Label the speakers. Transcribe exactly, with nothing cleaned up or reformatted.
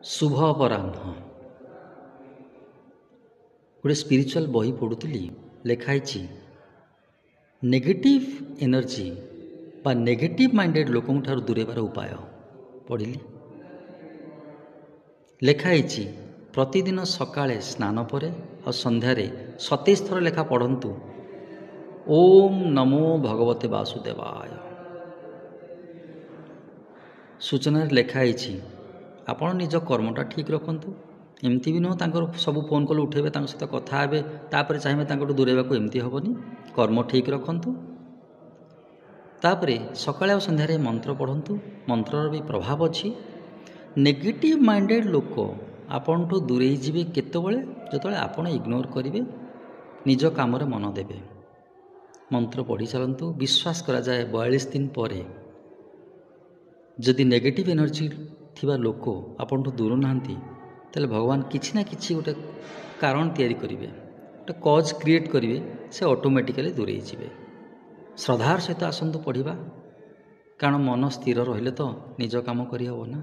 Speaker 1: ଶୁଭ ଅପରାହ୍ନ। ଗୋଟେ ସ୍ପିରିଚୁଆଲ୍ ବହି ପଢ଼ୁଥିଲି, ଲେଖା ହେଇଛି ନେଗେଟିଭ୍ ଏନର୍ଜି ବା ନେଗେଟିଭ୍ ମାଇଣ୍ଡେଡ଼ ଲୋକଙ୍କ ଠାରୁ ଦୂରେଇବାର ଉପାୟ। ପଢ଼ିଲି, ଲେଖା ହେଇଛି ପ୍ରତିଦିନ ସକାଳେ ସ୍ନାନ ପରେ ଆଉ ସନ୍ଧ୍ୟାରେ ସତେଇଶ ଥର ଲେଖା ପଢ଼ନ୍ତୁ ଓମ୍ ନମୋ ଭଗବତେ ବାସୁଦେବାୟ। ସୂଚନାରେ ଲେଖା ହେଇଛି ଆପଣ ନିଜ କର୍ମଟା ଠିକ୍ ରଖନ୍ତୁ। ଏମିତି ବି ନୁହଁ ତାଙ୍କର ସବୁ ଫୋନ୍ କଲ୍ ଉଠାଇବେ, ତାଙ୍କ ସହିତ କଥା ହେବେ, ତାପରେ ଚାହିଁବେ ତାଙ୍କଠୁ ଦୂରେଇବାକୁ, ଏମିତି ହେବନି। କର୍ମ ଠିକ୍ ରଖନ୍ତୁ, ତାପରେ ସକାଳେ ଆଉ ସନ୍ଧ୍ୟାରେ ମନ୍ତ୍ର ପଢ଼ନ୍ତୁ। ମନ୍ତ୍ରର ବି ପ୍ରଭାବ ଅଛି। ନେଗେଟିଭ୍ ମାଇଣ୍ଡେଡ଼ ଲୋକ ଆପଣଠୁ ଦୂରେଇ ଯିବେ କେତେବେଳେ? ଯେତେବେଳେ ଆପଣ ଇଗ୍ନୋର କରିବେ, ନିଜ କାମରେ ମନ ଦେବେ। ମନ୍ତ୍ର ପଢ଼ି ଚାଲନ୍ତୁ। ବିଶ୍ୱାସ କରାଯାଏ ବୟାଳିଶ ଦିନ ପରେ ଯଦି ନେଗେଟିଭ୍ ଏନର୍ଜି ଥିବା ଲୋକ ଆପଣଠୁ ଦୂର ନାହାନ୍ତି, ତାହେଲେ ଭଗବାନ କିଛି ନା କିଛି ଗୋଟେ କାରଣ ତିଆରି କରିବେ, ଗୋଟେ କଜ୍ କ୍ରିଏଟ୍ କରିବେ, ସେ ଅଟୋମେଟିକାଲି ଦୂରେଇ ଯିବେ। ଶ୍ରଦ୍ଧାର ସହିତ ଆସନ୍ତୁ ପଢ଼ିବା, କାରଣ ମନ ସ୍ଥିର ରହିଲେ ତ ନିଜ କାମ କରିହେବ ନା।